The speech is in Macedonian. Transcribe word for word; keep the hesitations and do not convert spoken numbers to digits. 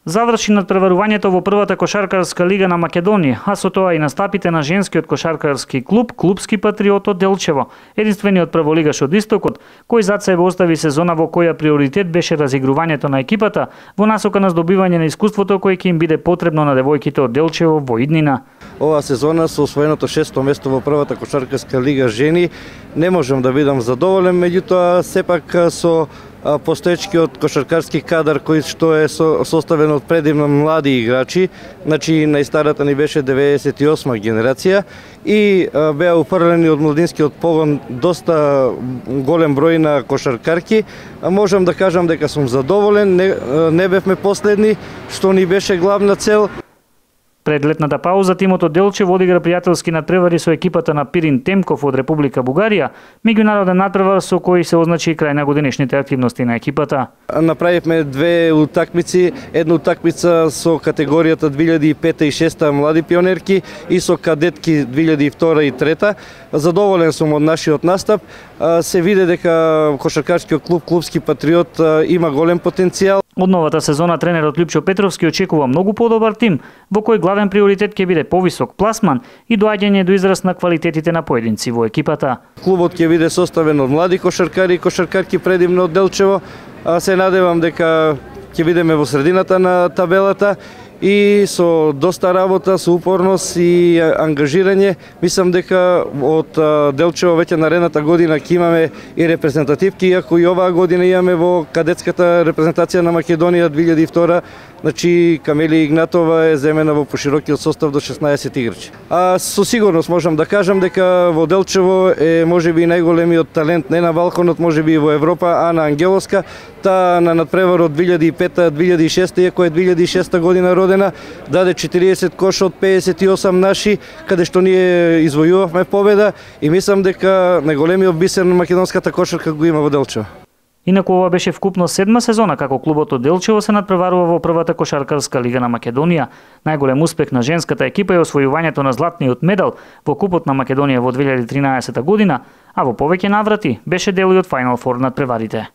Заврши надпреварувањето во првата кошаркарска лига на Македонија, а со тоа и настапите на женскиот кошаркарски клуб Клубски патриот од Делчево, единствениот прволигаш од Истокот, кој зад себе остави сезона во која приоритет беше разигрувањето на екипата во насока на здобивање на искуството кое ќе им биде потребно на девојките од Делчево во иднина. Ова сезона со освоеното шесто место во првата кошаркарска лига жени не можам да бидам задоволен, меѓутоа сепак со постоечкиот кошаркарски кадар кој што е составен од предимно млади играчи, значи најстарата ни беше деветдесет и осма генерација и беа уфрлени од младинскиот погон доста голем број на кошаркарки. Можам да кажам дека сум задоволен, не, не бевме последни, што ни беше главна цел. Пред летната пауза тимот од Делчево одигра пријателски надпревари со екипата на Пирин Темков од Република Бугарија, меѓународен надпревар со кој се означи крај на годинешните активности на екипата. Направивме две утакмици, една утакмица со категоријата две илјади и пета и шеста млади пионерки и со кадетки две илјади и втора и трета. Задоволен сум од нашиот настап. Се види дека кошаркарскиот клуб Клубски патриот има голем потенцијал. Од новата сезона тренерот Лјупчо Петровски очекува многу подобар тим, во кој главен приоритет ќе биде повисок пласман и доаѓање до израз на квалитетите на поединци во екипата. Клубот ќе биде составен од млади кошаркари и кошаркарки предимно од Делчево. Се надевам дека ќе бидеме во средината на табелата и со доста работа, со упорност и ангажирање, мислам дека од Делчево веќе наредната година ќе имаме и репрезентативки, иако и оваа година имаме во кадетската репрезентација на Македонија две илјади и втора, значи Камелија Игнатова е земена во поширокиот состав до шеснаесет играчи. А со сигурност можам да кажам дека во Делчево е можеби најголемиот талент не на Балканот, можеби и во Европа, Ана Ангеловска, та на надпреварот две илјади и пета две илјади и шеста, иако е две илјади и шеста година родена, даде четириесет коша од педесет и осам наши, каде што ние извојувавме победа и мислам дека најголемиот бисер на македонската кошарка го има во Делчево. Инаку ова беше вкупно седма сезона како клубот од Делчево се надпреварува во првата кошаркарска лига на Македонија. Најголем успех на женската екипа е освојувањето на златниот медал во Купот на Македонија во две илјади и тринаесета година, а во повеќе наврати беше дел и од Final Four надпреварите.